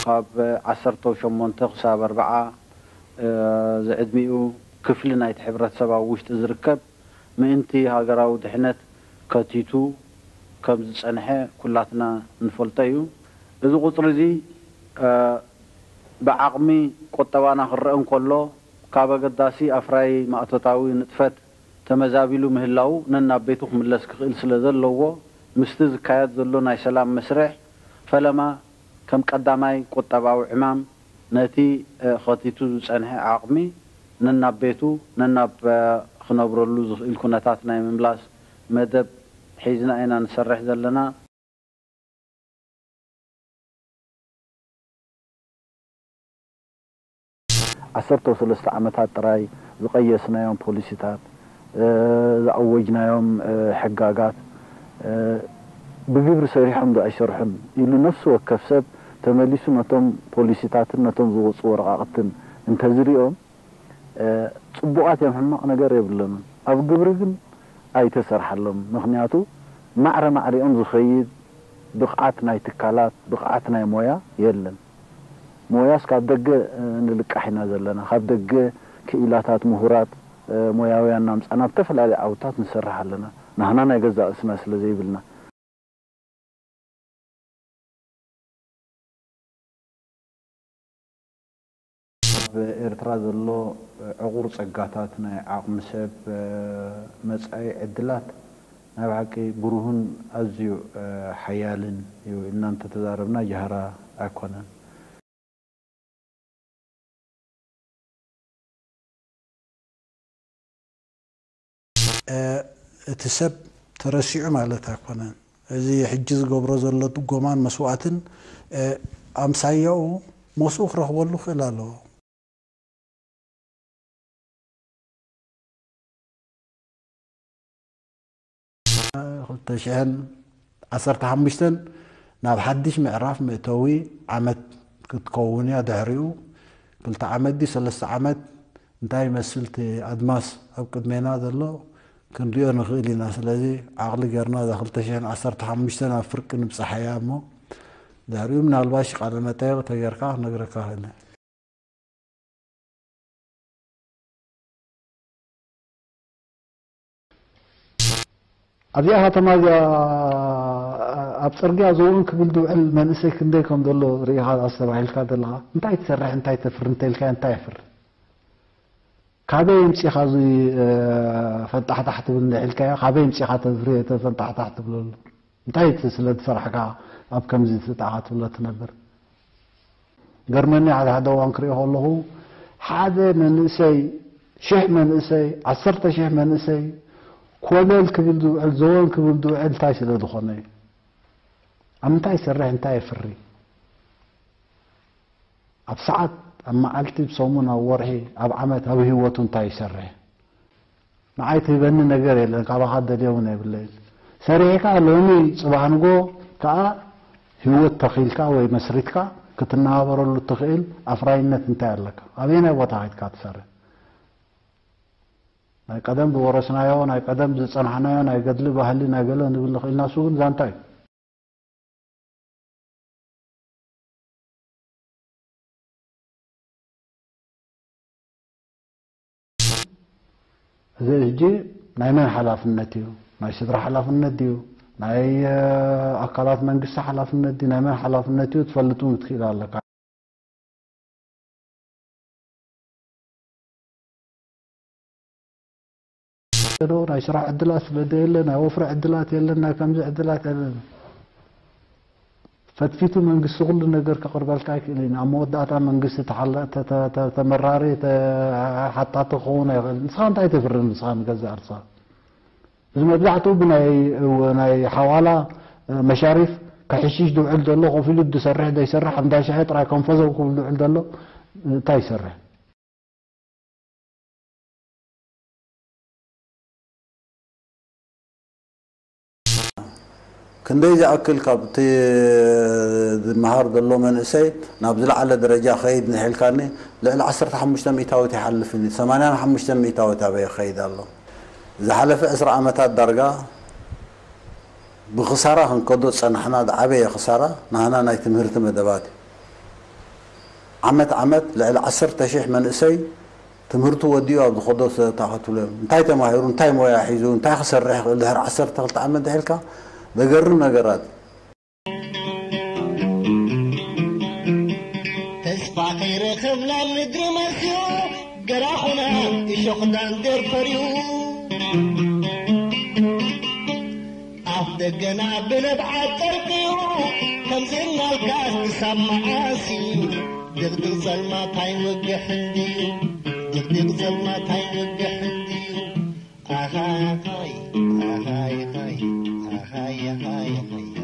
ካብ ዓሰርተ ሸሞንተ ክሳብ ኣርብዓ ዝዕድሚኡ ክፍሊ ናይቲ ሕብረተሰብ ኣብ ውሽጢ ዝርከብ ምእንቲ ሃገራዊ ድሕነት ከቲቱ ከም ዝጸንሐ ኩላትና ንፈልጦ እዩ። እዚ ቁጽሪ እዚ ብዓቕሚ ቁጠባና ክረአ እንከሎ፣ ካብ ኣገዳሲ ኣፍራዪ ማእቶታዊ ንጥፈት ተመዛቢሉ ምህላዉ ነናብ ቤቱ ክምለስ ክኽእል ስለ ዘለዎ፣ ምስቲ ዝካየድ ዘሎ ናይ ሰላም መስርሕ ፈለማ ከም ቀዳማይ ቁጠባዊ ዕማም ነቲ ከቲቱ ዝጸንሐ ዓቕሚ ነናብ ቤቱ፣ ነናብ ክነብረሉ ዝኽእል ኩነታት ናይ ምምላስ መደብ ሒዝና ኢና ንሰርሕ ዘለና። ዓሰርተ ሰለስተ ዓመታት ጥራይ ዝቐየስናዮም ፖሊሲታት፣ ዝኣወጅናዮም ሕጋጋት ብግብሪ ሰሪሖም ዶ ኣይሰርሑን ኢሉ ነፍሲ ወከፍ ሰብ ተመሊሱ ነቶም ፖሊሲታትን ነቶም ዝወፁ ወረቓቕትን እንተዝሪኦም፣ ጽቡቓት እዮም፣ ሕማቕ ነገር የብሎምን። ኣብ ግብሪ ግን ኣይተሰርሓሎም። ምኽንያቱ ማዕረ ማዕሪኦም ዝኸይድ ብቕዓት ናይ ትካላት፣ ብቕዓት ናይ ሞያ የለን። ሞያስ ካብ ደገ ንልቃሕ ኢና ዘለና። ካብ ደገ ክኢላታት፣ ምሁራት፣ ሞያውያን እናምጻና ኣብ ዝተፈላለዩ ዓውድታት ንሰርሕ ኣለና። ናህና ናይ ገዛእ ርእስና ስለ ዘይብልና። ኣብ ኤርትራ ዘሎ ዕቑር ጸጋታት፣ ናይ ዓቕሚ ሰብ፣ መጻኢ ዕድላት ናይ ብሓቂ ብሩህን ኣዝዩ ሓያልን እዩ ኢልና እንተተዛረብና ጃህራ ኣይኮነን። እቲ ሰብ ተረሲዑ ማለት ኣይኮነን። እዚ ሕጂ ዝገብሮ ዘሎ ድጎማን መስዋእትን ኣምሳያኡ ሞስኡ ክረኽበሉ ክእል ኣለዎ። ክልተ ሽሕን ዓሰርተ ሓሙሽተን ናብ ሓድሽ ምዕራፍ መእተዊ ዓመት ክትከውን እያ። ድሕሪኡ ክልተ ዓመት ድዩ ሰለስተ ዓመት እንታይ ይመስል እቲ ኣድማስ ኣብ ቅድሜና ዘሎ ክንሪኦ ንኽእል ኢና። ስለዚ ዓቕሊ ጌርና እዛ ክልተ ሽሕን ዓሰርተ ሓሙሽተን ኣብ ፍርቂ ንብጻሓያ እሞ ድሕሪኡ ምናልባሽ ቃለ መጠየቕ ተጌርካ ክነግረካ ክእል። ኣብዚኣ ከተማ እዚኣ ኣብ ጽርግያ ዘውን ክብል ዝውዕል መንእሰይ ክንደይ ከም ዘሎ ርኢኻ ኣስተባሂልካ ዘለኻ እንታይ ትሰርሕ እንታይ ተፍሪ እንተኢልካ እንታይ የፍሪ? ካበይ የምጺኻ እዚ ፈንጣሕታሕ ትብል እንድሕልካዮ ካበይ የምጺኻ ተፍሪ ተፈንጣሕታሕ ትብለሉ? እንታይ እቲ ስለ ዝሰራሕካ ኣብ ከምዚ ትጣዓ ትብሎ ትነብር? ገርመኒ ሓደ ሓደ እዋን ክሪኦ ከለኹ ሓደ መንእሰይ ሽሕ መንእሰይ ዓሰርተ ሽሕ መንእሰይ ኮለል ክብል ዝውዕል ዘወን ክብል ዝውዕል እንታይ ስለ ዝኾነ እዩ? ኣብ ምንታይ ይሰርሕ እንታይ የፍሪ? ኣብ ሰዓት ኣብ መዓልቲ ብሰሙን ኣብ ወርሒ ኣብ ዓመት ኣብ ህይወቱ እንታይ ይሰርሕ? ንዓይ ትህበኒ ነገር የለን ካባኻ ደልየ እውን የብለይን። ሰሪሕካ ሎሚ ፅባሕ ንጎ ከዓ ህይወት ተኺልካ ወይ መስሪትካ ክትነባበረሉ እትኽእል ኣፍራይነት እንታይ ኣለካ? ኣበየናይ ቦታ ከይድካ ትሰርሕ? ናይ ቀደም ዝወረስናዮ ናይ ቀደም ዝፀናሕናዮ ናይ ገድሊ ባህሊ ናይ ገለ ንብል ንኽእል ናሱ ግን ዛንታ እዩ። እዚ ሕጂ ናይ መን ሓላፍነት እዩ? ናይ ስድራ ሓላፍነት ድዩ? ናይ ኣካላት መንግስቲ ሓላፍነት ድዩ? ናይ መን ሓላፍነት እዩ? ትፈልጥ እውን ክትክእል ኣለካ። ናይ ስራሕ ዕድላት ስለ ዘየለ ናይ ወፍሪ ዕድላት የለን ናይ ከምዚ ዕድላት የለን። ፈትፊቱ መንግስቲ ኩሉ ነገር ከቕርበልካ ኣይክእልን ኣብ መወዳእታ መንግስቲ ተመራሪ ሓታቲ ክኸውን ኣይኽእል ንስኻ እንታይ ተፍርን ንስኻ ንገዛእ ርሳ እዚ መብዛሕትኡ ብናይ ናይ ሓዋላ መሻሪፍ ከሕሽሽ ዝውዕል ዘሎ ኮፍ ኢሉ ዝሰርሕ ዘይሰርሕ እንዳ ሻሂ ጥራይ ከንፈዘው ክብል ዝውዕል ዘሎ እንታይ ይሰርሕ ክንደይ ዝኣክል ካብቲ ዝመሃር ዘሎ መንእሰይ ናብ ዝለዓለ ደረጃ ከይድ ንሒልካኒ ልዕሊ ዓሰርተ ሓሙሽተ ሚእታዊት ይሓልፍን እዩ ሰማንያን ሓሙሽተ ሚእታዊት ኣበይ ይኸይድ ኣሎ ዝሓለፈ ዕስራ ዓመታት ዳርጋ ብኽሳራ ክንከዶ ዝጸናሕና ዝዓበየ ክሳራ ናህና ናይ ትምህርቲ መደባት እዩ ዓመት ዓመት ልዕሊ ዓሰርተ ሺሕ መንእሰይ ትምህርቱ ወዲኡ ኣብ ዝኸዶ ሰደታ ክትብሎ እዮም። እንታይ ተማሂሩ፣ እንታይ ሞያ ሒዙ፣ እንታይ ክሰርሕ ይኽእል ድሕሪ ዓሰርተ ክልተ ዓመት ድሒልካ ዘገርም ነገራት። ተስፋ ከይረኸብና ምድሪ መስዮ ገራኹና እሾኽ ዳንዴር ፈርዩ ኣፍ ደገና ብንብዓት ጠርቅዩ ከምዘናልካ ክሳብ መዓሲ ድቕድቕ ጸልማት ኣይወግሕን ድዩ ድቕድቕ ጸልማት ኣይወግሕን ድዩ ኣኻኻይ ኣኻይኻይ ኣኻይኻይኻይ